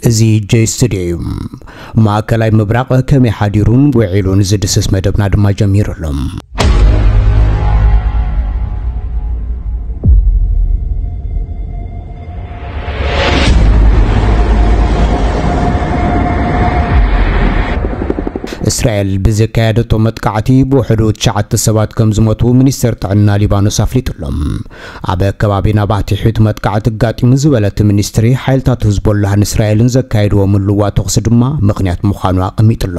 እዚ ጄ ስቱድዮ እዩ። ማእከላይ ምብራቕ ከመይ ሓዲሩን ውዒሉን ዝድስስ መደብና ድማ ጀሚሩ ኣሎ። እስራኤል ብዘካየደቶ መጥቃዕቲ ብውሕዱ ትሽዓተ ሰባት ከም ዝሞቱ ሚኒስተር ጥዕና ሊባኖስ ኣፍሊጡ ኣሎ። ኣብ ከባቢ ናባቲ ሕዩት መጥቃዕቲ ኣጋጢሙ ዝበለ እቲ ሚኒስትሪ፣ ሓይልታት ህዝቦላህን እስራኤልን ዘካየድዎ ምልዋጥ ተኹሲ ድማ ምኽንያት ምዃኑ ኣቐሚጡ ኣሎ።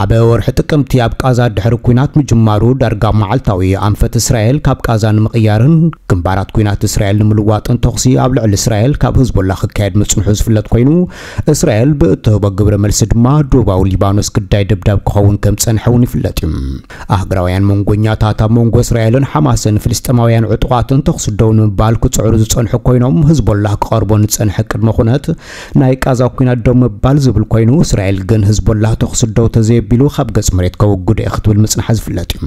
ኣብ ወርሒ ጥቅምቲ ኣብ ቃዛ ድሕሪ ኲናት ምጅማሩ ዳርጋ መዓልታዊ ኣንፈት እስራኤል ካብ ቃዛ ንምቕያርን ግንባራት ኲናት እስራኤል ንምልዋጥን ተኹሲ ኣብ ልዕሊ እስራኤል ካብ ህዝቦላ ክካየድ ምጽንሑ ዝፍለጥ ኮይኑ፣ እስራኤል ብእትህቦ ግብረ መልሲ ድማ ዶባዊ ሊባኖስ ግዳይ ደብዳብ ክኸውን ከም ዝጸንሐ እውን ይፍለጥ እዩ። ኣህግራውያን መንጎኛታት ኣብ መንጎ እስራኤልን ሓማስን ፍልስጤማውያን ዕጡቓትን ተኹሲ ደው ንምባል ክጽዕሩ ዝጸንሑ ኮይኖም፣ ህዝቦላህ ክቐርቦ ንጸንሐ ቅድመ ኩነት ናይ ቃዛ ኲናት ደው ምባል ዝብል ኮይኑ፣ እስራኤል ግን ህዝቦላህ ተኹሲ ደው ተዘየቢሉ ካብ ገጽ መሬት ከወግዶ እየ ክትብል ምጽንሓ ዝፍለጥ እዩ።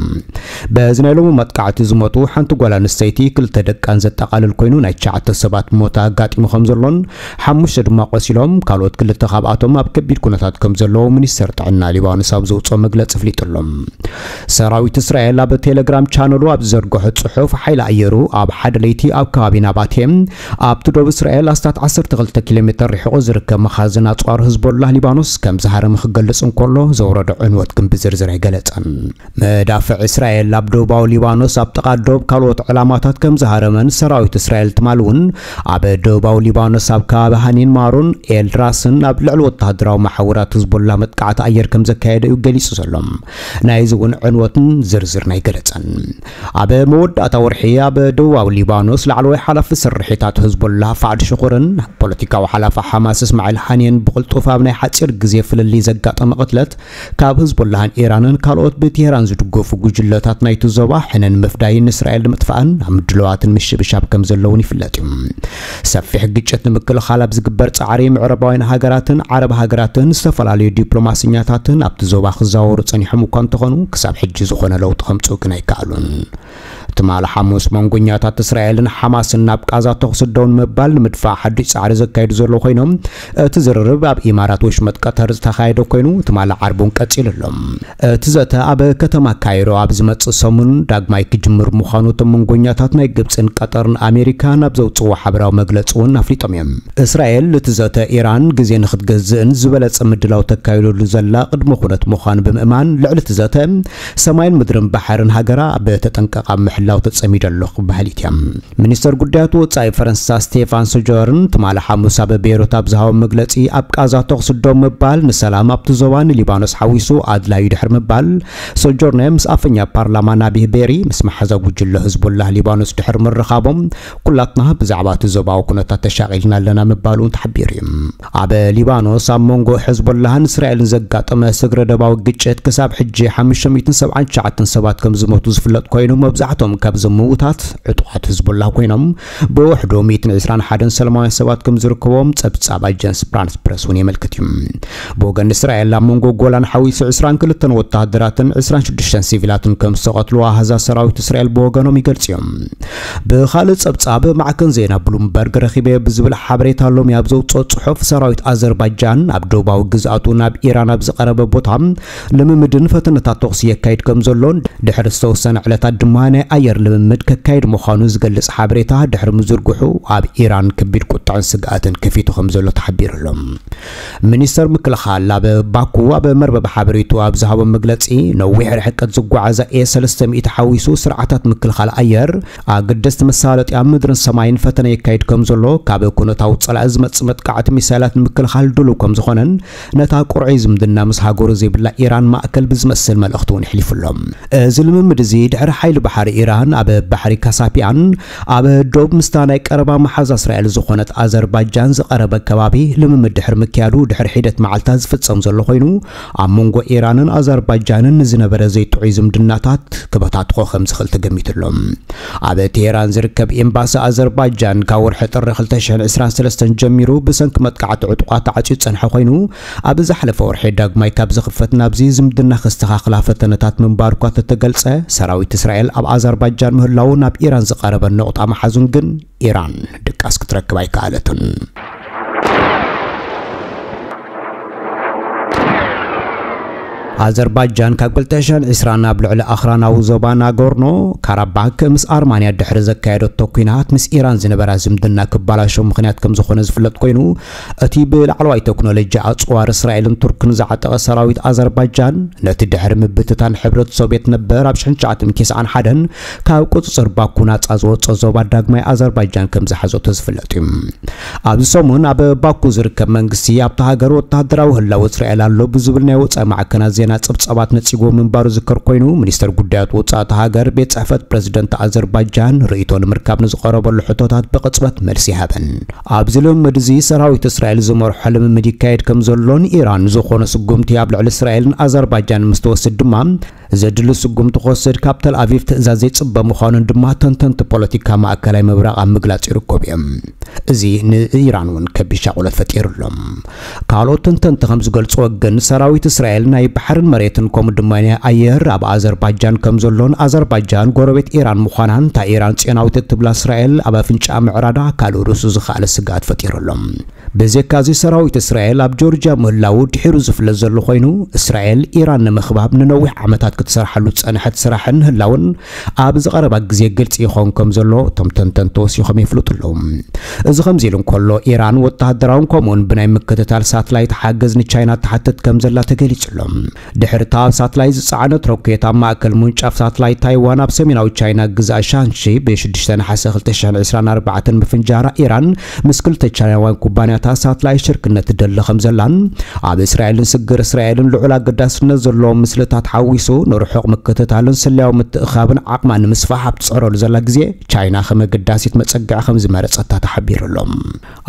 በዚ ናይ ሎሚ መጥቃዕቲ ዝሞቱ ሓንቲ ጓል ኣንስተይቲ ክልተ ደቃን ዘጠቓልል ኮይኑ፣ ናይ ትሽዓተ ሰባት ሞት ኣጋጢሙ ከም ዘሎን ሓሙሽተ ድማ ቆሲሎም፣ ካልኦት ክልተ ካብኣቶም ኣብ ከቢድ ኩነታት ከም ዘለዉ ሚኒስተር ጥዕና ሊባኖስ ኣብ ዘውፅኦ መግለፂ ኣፍሊጡ ኣሎ። ሰራዊት እስራኤል ኣብ ቴሌግራም ቻነሉ ኣብ ዝዘርግሖ ጽሑፍ፣ ሓይሊ ኣየሩ ኣብ ሓደ ለይቲ ኣብ ከባቢ ናባቴ ኣብቲ ዶብ እስራኤል ኣስታት ዓሰርተ ክልተ ኪሎ ሜተር ርሒቑ ዝርከብ መኻዝን ኣጽዋር ህዝቦላህ ሊባኖስ ከም ዝሃረመ ክገልጽ እንከሎ፣ ዘውረዶ ዕንወት ግን ብዝርዝር ኣይገለጸን። መዳፍዕ እስራኤል ኣብ ደቡባዊ ሊባኖስ ኣብ ጥቓ ዶብ ካልኦት ዕላማታት ከም ዝሃረመን ሰራዊት እስራኤል ትማሊ እውን ኣብ ደቡባዊ ሊባኖስ ኣብ ከባቢ ሃኒን ማሮን ኤል ራስን ኣብ ልዕሊ ወተሃደራዊ መሓውራት ህዝቦላ መጥቃዕቲ ኣየር ከም ዘካየደ እዩ ገሊጹ ዘሎ። ናይዚ እውን ዕንወትን ዝርዝርን ኣይገለጸን። ኣብ መወዳእታ ወርሒ ኣብ ደቡባዊ ሊባኖስ ላዕለዋይ ሓላፊ ስርሒታት ህዝቦላ ፋዕድ ሽኹርን ፖለቲካዊ ሓላፊ ሓማስ እስማዒል ሃኒየን ብቕልጡፍ ኣብ ናይ ሓጺር ግዜ ፍልልይ ዘጋጠመ ቅትለት ካብ ህዝቦላህን ኢራንን ካልኦት ብቴህራን ዝድገፉ ጉጅለታት ናይቲ ዞባ ሕነን ምፍዳይን እስራኤል ንምጥፋእን ኣብ ምድለዋትን ምሽብሻብ ከም ዘለውን ይፍለጥ እዩ። ሰፊሕ ግጭት ንምክልኻል ኣብ ዝግበር ጻዕሪ ምዕራባውያን ሃገራትን ዓረብ ሃገራትን ዝተፈላለዩ ዲፕሎማሰኛታትን ኣብቲ ዞባ ክዘዋወሩ ጸኒሖም እኳ እንተኾኑ፣ ክሳብ ሕጂ ዝኾነ ለውጢ ከምጽኡ ግን ኣይከኣሉን። ትማሊ ሓሙስ መንጎኛታት እስራኤልን ሓማስን ናብ ቃዛ ተኹሲ ደው ንምባል ንምድፋእ ሓድሽ ጻዕሪ ዘካየዱ ዘለዉ ኮይኖም፣ እቲ ዝርርብ ኣብ ኢማራት ወሽመጥ ቀተር ዝተኻየደ ኮይኑ፣ ትማሊ ዓርቢ እውን ቀጺሉ ኣሎ። እቲ ዘተ ኣብ ከተማ ካይሮ ኣብ ዝመጽእ ሰሙን ዳግማይ ክጅምር ምዃኑ እቶም መንጎኛታት ናይ ግብጽን ቀጠርን ኣሜሪካን ኣብ ዘውጽእዎ ሓበራዊ መግለጺ እውን ኣፍሊጦም እዮም። እስራኤል እቲ ዘተ ኢራን ግዜ ንክትገዝእን ዝበለጸ ምድላው ተካይደሉ ዘላ ቅድመ ኩነት ምዃኑ ብምእማን፣ ልዕሊ እቲ ዘተ ሰማይን ምድርን ባሕርን ሃገራ ብተጠንቀቕ ኣብ ምሕላው ተጸሚደ ኣለኹ በሃሊት እያ። ሚኒስተር ጉዳያት ወጻኢ ፈረንሳ ስቴፋን ሶጆርን ትማሊ ሓሙስ ኣብ ቤይሩት ኣብ ዝሃቦ መግለጺ፣ ኣብ ቃዛ ተኹሲ ደው ምባል ንሰላም ኣብቲ ዞባ ንሊባኖስ ሓዊሱ ኣድላዩ ድሕሪ ምባል፣ ሶጆርነ ምስ ኣፈኛ ፓርላማ ናቢህ ቤሪ ምስ መሓዛ ጉጅለ ህዝቡላህ ሊባኖስ ድሕሪ ምርኻቦም፣ ኩላትና ብዛዕባ እቲ ዞባዊ ኩነታት ተሻቒልና ኣለና ምባሉ እውን ተሓቢሩ እዩ። ኣብ ሊባኖስ ኣብ መንጎ ሕዝቦላህን እስራኤልን ዘጋጠመ ስግረ ደባዊ ግጭት ክሳብ ሕጂ ሓሙሽተ ሚእትን ሰብዓን ትሽዓተን ሰባት ከም ዝሞቱ ዝፍለጥ ኮይኑ፣ መብዛሕቶም ካብዞም ምውታት ዕጡቓት ሕዝቦላህ ኮይኖም፣ ብውሕዱ ሚእትን ዕስራን ሓደን ሰላማውያን ሰባት ከም ዝርከቦም ጸብጻብ ኣጀንስ ፍራንስ ፕረስ እውን የመልክት እዩ። ብወገን እስራኤል ኣብ መንጎ ጎላን ሓዊሱ ዕስራን ክልተን ወተሃደራትን ዕስራን ሽዱሽተን ሲቪላትን ከም ዝተቐትሉ ኣሃዛት ሰራዊት እስራኤል ብወገኖም ይገልጹ እዮም። ብኻልእ ጸብጻብ ማዕከን ዜና ብሉምበርግ ረኺበ ብዝብል ሓበሬታ ሎሚ ኣብ ዘውጽኦ ጽሑፍ፣ ሰራዊት ኣዘርባይጃን ኣብ ደቡባዊ ግዝኣቱ ናብ ኢራን ኣብ ዝቐረበ ቦታ ልምምድን ፈተነታት ተኹሲ የካይድ ከም ዘሎን ድሕሪ ዝተወሰነ ዕለታት ድማ ናይ ኣየር ልምምድ ከካይድ ምዃኑ ዝገልጽ ሓበሬታ ድሕሪ ምዝርግሑ ኣብ ኢራን ከቢድ ቁጥዐን ስግኣትን ከፊቱ ከም ዘሎ ተሓቢሩ ኣሎ። ሚኒስተር ምክልኻል ኣብ ባኩ ኣብ መርበብ ሓበሬቱ ኣብ ዝሃቦ መግለጺ፣ ነዊሕ ርሕቀት ዝጓዓዛ ኤ ሰለስተ ሚእቲ ሓዊሱ ስርዓታት ምክልኻል ኣየር፣ ኣገደስቲ መሳለጥያ ምድርን ሰማይን ፈተነ የካይድ ከም ዘሎ፣ ካብ ኩነታዊ ጸላኢ ዝመጽእ መጥቃዕቲ ሚሳይላት ንምክልኻል ድሉው ከም ዝኾነን፣ ነታ ቁርዐይ ዝምድና ምስ ሃገሩ ዘይብላ ኢራን ማእከል ብዝመስል መልእኽቲ እውን የሕሊፉ ኣሎ። እዚ ልምምድ እዚ ድሕሪ ሓይሊ ባሕሪ ኢራን ኣብ ባሕሪ ካሳፒያን ኣብ ዶብ ምስታ ናይ ቀረባ መሓዛ እስራኤል ዝኾነት ኣዘርባይጃን ዝቐረበ ከባቢ ልምምድ ድሕሪ ምክያዱ ድሕሪ ሒደት መዓልታት ዝፍጸም ዘሎ ኮይኑ፣ ኣብ መንጎ ኢራንን ኣዘርባይጃንን ንዝነበረ ዘይጥዑይ ዝምድናታት ክበታትኾ ከም ዝኽእል ተገሚቱ ኣሎ። ኣብ ቴሄራን ዝርከብ ኤምባሲ ኣዘርባይጃን ካብ ወርሒ ጥሪ ክልተ ሽሕን ዕስራን ሰለስተን ጀሚሩ ብሰንኪ መጥቃዕቲ ዕጡቓት ተዓጽዩ ዝጸንሐ ኮይኑ፣ ኣብ ዝሓለፈ ወርሒ ዳግማይ ካብ ዝኽፈት ናብዚ ዝምድና ከስተኻኽላ ፈተነታት ምንባሩ እኳ ተተገልጸ፣ ሰራዊት እስራኤል ኣብ ኣዘርባይጃን ምህላዉ ናብ ኢራን ዝቐረበ ነቑጣ መሓዙን ግን ኢራን ድቃስ ክትረክብ ኣይከኣለትን። ኣዘርባጃን ካብ ክልተ ሽሕን ዕስራን ኣብ ልዕሊ ኣኽራናዊ ዞባ ናጎርኖ ካራባክ ምስ ኣርማንያ ድሕሪ ዘካየደቶ ኲናት፣ ምስ ኢራን ዝነበራ ዝምድና ክባላሾ ምኽንያት ከም ዝኾነ ዝፍለጥ ኮይኑ፣ እቲ ብላዕለዋይ ቴክኖሎጂ ኣጽዋር እስራኤልን ቱርክን ዝዓጠቐ ሰራዊት ኣዘርባጃን፣ ነቲ ድሕሪ ምብትታን ሕብረት ሶቭየት ነበር ኣብ ሽሕን ትሽዓተ ሚእትን ተስዓን ሓደን ካብ ቁጽጽር ባኩ ናጻ ዝወጾ ዞባ ዳግማይ ኣዘርባጃን ከም ዝሓዘቶ ዝፍለጥ እዩ። ኣብዚ ሰሙን ኣብ ባኩ ዝርከብ መንግስቲ፣ ኣብታ ሃገር ወተሃደራዊ ህላወ እስራኤል ኣሎ ብዝብል ናይ ወጻኢ ማዕከናት ዜና ጸብጻባት ነጺጎ ምንባሩ ዝከር ኮይኑ፣ ሚኒስተር ጉዳያት ወጻኢ እታ ሃገር ቤት ጽሕፈት ፕረዚደንት ኣዘርባጃን ርእይቶ ንምርካብ ንዝቐረበሉ ሕቶታት ብቕጽበት መልሲ ይሃበን። ኣብዚ ልምምድ እዚ ሰራዊት እስራኤል ዝመርሖ ልምምድ ይካየድ ከም ዘሎን ኢራን ዝኾነ ስጉምቲ ኣብ ልዕሊ እስራኤልን ኣዘርባጃን ምስ ትወስድ ድማ ዘድሊ ስጉምቲ ክወስድ ካብ ተል ኣቪቭ ትእዛዝ ዘይጽበ ምዃኑን ድማ ተንተንቲ ፖለቲካ ማእከላይ ምብራቕ ኣብ ምግላጽ ይርከቡ እዮም። እዚ ንኢራን እውን ከቢድ ሻቑለት ፈጢሩሎም። ካልኦት ተንተንቲ ከም ዝገልጽዎ ግን ሰራዊት እስራኤል ናይ ባሕርን መሬትን ከምኡ ድማ ናይ ኣየር ኣብ ኣዘርባጃን ከም ዘሎን ኣዘርባጃን ጎረቤት ኢራን ምዃናን እታ ኢራን ጽዮናዊት እትብላ እስራኤል ኣብ ኣፍንጫ ምዕራዳ ካልእ ርእሱ ዝኸኣለ ስግኣት ፈጢሩሎም። ብዘካዚ ሰራዊት እስራኤል ኣብ ጆርጅያ ምህላዉ ድሒሩ ዝፍለጥ ዘሎ ኮይኑ፣ እስራኤል ኢራን ንምኽባብ ንነዊሕ ዓመታት ክትሰርሓሉ ዝጸንሐት ስራሕን ህላውን ኣብ ዝቐረባ ግዜ ግልጺ ይኸውን ከም ዘሎ እቶም ተንተንቲ ወሲኾም የፍልጡ ኣለዉ። እዚ ከምዚ ኢሉ እንከሎ፣ ኢራን ወተሃደራውን ከምኡውን ብናይ ምክትታል ሳትላይት ሓገዝ ንቻይና ትሓትት ከም ዘላ ተገሊጹ ኣሎ። ድሕሪ እታ ኣብ ሳትላይት ዝጸዓነት ሮኬት ኣብ ማእከል ምውንጫፍ ሳትላይት ታይዋን ኣብ ሰሜናዊ ቻይና ግዝኣት ሻንሺ ብ ሽዱሽተ ነሓሰ ክልተ ሽሕን ዕስራን ኣርባዕተን ምፍንጃራ፣ ኢራን ምስ ክልተ ቻይናውያን ኩባንያታት ሳትላይት ሽርክነት ትደሊ ከም ዘላን ኣብ እስራኤልን ስግር እስራኤልን ልዑል ኣገዳስነት ዘለዎም ምስልታት ሓዊሱ ንርሑቕ ምክትታልን ስለያዊ ምትእኻብን ዓቕማ ንምስፋሕ ኣብ ትጽዕረሉ ዘላ ግዜ፣ ቻይና ከም ኣገዳሲት መጸግዒ ከም ዝመረጸታ ተሓቢሩ ኣሎ።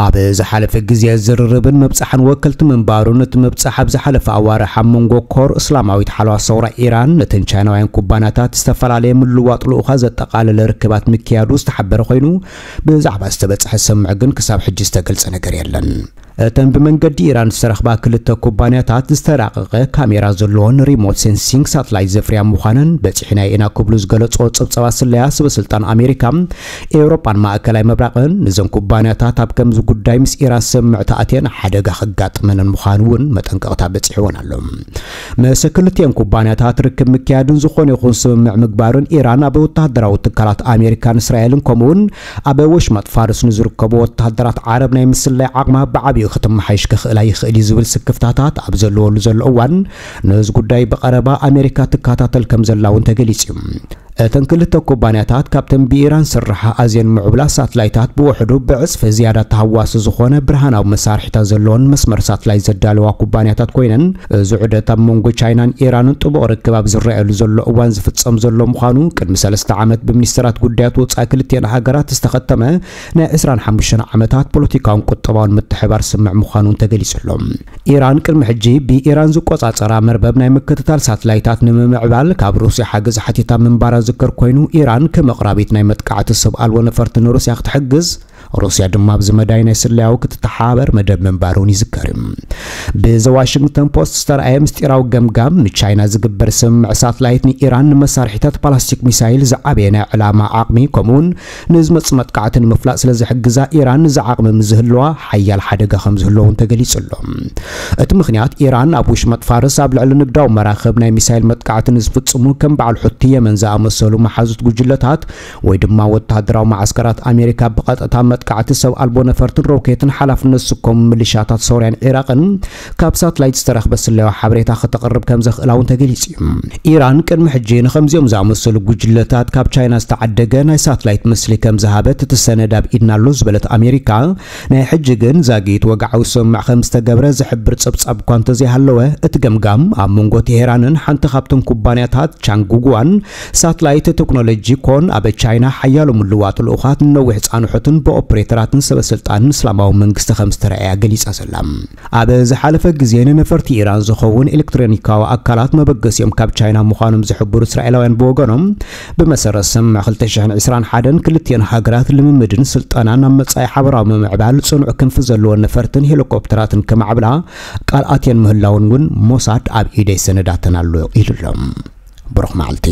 ኣብ ዝሓለፈ ግዜ ዝርርብን ምብጻሕን ወከልቲ ምንባሩን፣ እቲ ምብጻሕ ኣብ ዝሓለፈ ኣዋርሕ ኣብ መንጎ ኮር እስላማዊት ሓለዋ ሰውራ ኢራን ነተን ቻይናውያን ኩባንያታት ዝተፈላለየ ምልዋጥ ልኡኻት ዘጠቓለለ ርክባት ምክያዱ ዝተሓበረ ኮይኑ፣ ብዛዕባ ዝተበጽሐ ስምምዕ ግን ክሳብ ሕጂ ዝተገልጸ ነገር የለን። እተን ብመንገዲ ኢራን ዝተረኽባ ክልተ ኩባንያታት ዝተራቐቐ ካሜራ ዘለዎን ሪሞት ሴንሲንግ ሳትላይት ዘፍርያ ምዃነን በጺሕናዮ ኢና ክብሉ ዝገለጾ ጸብጻባት ስለያ ሰበ ስልጣን ኣሜሪካ፣ ኤውሮጳን ማእከላይ ምብራቕን፣ ንዘን ኩባንያታት ኣብ ከምዚ ጉዳይ ምስ ኢራን ስምምዕ ተኣትየን ሓደጋ ከጋጥመንን ምዃኑ እውን መጠንቀቕታ በጺሕወን ኣሎ። ምስ ክልቲኤን ኩባንያታት ርክብ ምክያድን ዝኾነ ይኹን ስምምዕ ምግባርን ኢራን ኣብ ወተሃደራዊ ትካላት ኣሜሪካን እስራኤልን ከምኡውን ኣብ ወሽመጥ ፋርስ ንዝርከቡ ወተሃደራት ዓረብ ናይ ምስላይ ዓቕማ ብዓቢኡ ክትመሓይሽ ክኽእላ ይኽእል እዩ ዝብል ስክፍታታት ኣብ ዘለወሉ ዘሎ እዋን፣ ነዚ ጉዳይ ብቐረባ ኣሜሪካ ትከታተል ከም ዘላ እውን ተገሊጹ እዩ። እተን ክልተ ኩባንያታት ካብተን ብኢራን ስራሓ ኣዝየን ምዕቡላት ሳትላይታት ብውሕዱ ብዕጽፊ ዝያዳ ተሃዋሲ ዝኾነ ብርሃናዊ መሳርሒታት ዘለዎን መስመር ሳትላይት ዘዳለዋ ኩባንያታት ኮይነን፣ እዚ ዑደት ኣብ መንጎ ቻይናን ኢራንን ጥቡቕ ርክብ ኣብ ዝረኣየሉ ዘሎ እዋን ዝፍጸም ዘሎ ምዃኑ፣ ቅድሚ ሰለስተ ዓመት ብሚኒስተራት ጉዳያት ወጻኢ ክልቲኤን ሃገራት ዝተኸተመ ናይ ዕስራን ሓሙሽተን ዓመታት ፖለቲካውን ቁጠባውን ምትሕባር ስምምዕ ምዃኑ እውን ተገሊጹ ኣሎ። ኢራን ቅድሚ ሕጂ ብኢራን ዝቆጻጸራ መርበብ ናይ ምክትታል ሳትላይታት ንምምዕባል ካብ ሩስያ ሓገዝ ሓቲታ ምንባራ ዝከር ኮይኑ፣ ኢራን ከም ኣቕራቢት ናይ መጥቃዕቲ ሰብ ኣልቦ ነፈርቲ ንሩስያ ክትሕግዝ፣ ሩስያ ድማ ኣብዚ መዳይ ናይ ስለያዊ ክትተሓባበር መደብ ምንባሩን ይዝከር እዩ። ብዘ ዋሽንግተን ፖስት ዝተረኣየ ምስጢራዊ ገምጋም፣ ንቻይና ዝግበር ስምምዕ ሳትላይት ንኢራን ንመሳርሒታት ባላስቲክ ሚሳይል ዝዓበየ ናይ ዕላማ ዓቕሚ፣ ከምኡውን ንዝመጽእ መጥቃዕቲ ንምፍላጥ ስለ ዝሕግዛ፣ ኢራን እዚ ዓቕሚ ምስ ዝህልዋ ሓያል ሓደጋ ከም ዝህልዎ እውን ተገሊጹ ኣሎ። እቲ ምኽንያት፣ ኢራን ኣብ ውሽመጥ ፋርስ ኣብ ልዕሊ ንግዳዊ መራኽብ ናይ ሚሳይል መጥቃዕቲ ንዝፍጽሙ ከም በዓል ሑቲ የመን ዝኣመሰሉ መሓዙት ጉጅለታት ወይ ድማ ወተሃደራዊ መዓስከራት ኣሜሪካ ብቐጥታ መጥቃዕቲ ሰብ ኣልቦ ነፈርትን ሮኬትን ሓላፍነት ዝስከሙ ሚሊሻታት ሶርያን ዒራቕን ካብ ሳትላይት ዝተረኽበ ስለያዊ ሓበሬታ ከተቕርብ ከም ዘኽእላ እውን ተገሊጹ እዩ። ኢራን ቅድሚ ሕጂ ንኸምዚኦም ዝኣመሰሉ ጉጅለታት ካብ ቻይና ዝተዓደገ ናይ ሳትላይት ምስሊ ከም ዝሃበት እቲ ሰነድ ኣብ ኢድና ኣሎ ዝበለት ኣሜሪካ፣ ናይ ሕጂ ግን ዛጊት ወግዓዊ ስምምዕ ከም ዝተገብረ ዝሕብር ጸብጻብ እኳ እንተዘይሃለወ፣ እቲ ገምጋም ኣብ መንጎ ቴሄራንን ሓንቲ ካብተን ኩባንያታት ቻንጉጉዋን ሳትላይት ቴክኖሎጂ ኮን ኣብ ቻይና ሓያሎ ምልዋጥ ልኡኻት ንነዊሕ ጻንሖትን ብኦፕሬተራትን ሰበ ስልጣንን እስላማዊ መንግስቲ ከም ዝተረኣያ ገሊጻ ዘላ። ኣብ ዝሓለፈ ግዜ ንነፈርቲ ኢራን ዝኸውን ኤሌክትሮኒካዊ ኣካላት መበገሲኦም ካብ ቻይና ምዃኖም ዝሕብሩ እስራኤላውያን ብወገኖም፣ ብመሰረት ስምምዕ ክልተ ሽሕን ዕስራን ሓደን ክልቲኤን ሃገራት ልምምድን ስልጠናን ኣብ መጻኢ ሓበራዊ ምምዕባል ጽኑዕ ክንፊ ዘለዎን ነፈርትን ሄሊኮፕተራትን ከማዕብላ ቃል ኣትየን ምህላውን እውን ሞሳድ ኣብ ኢደይ ሰነዳተን ኣሎ ኢሉ ኣሎ። ብሩኽ መዓልቲ።